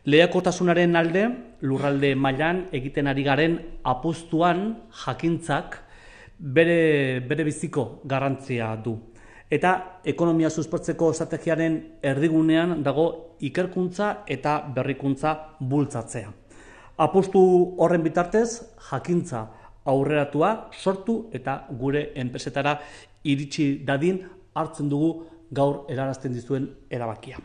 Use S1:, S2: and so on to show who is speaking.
S1: Lehiakortasunaren alde, lurralde mailan egiten ari garen apustuan jakintzak bere biziko garrantzia du. Eta ekonomia suspertzeko estrategiaren erdigunean dago ikerkuntza eta berrikuntza bultzatzea. Apustu horren bitartez, jakintza aurreratua sortu eta gure enpresetara iritsi dadin hartzen dugu gaur helarazten dizuen erabakia.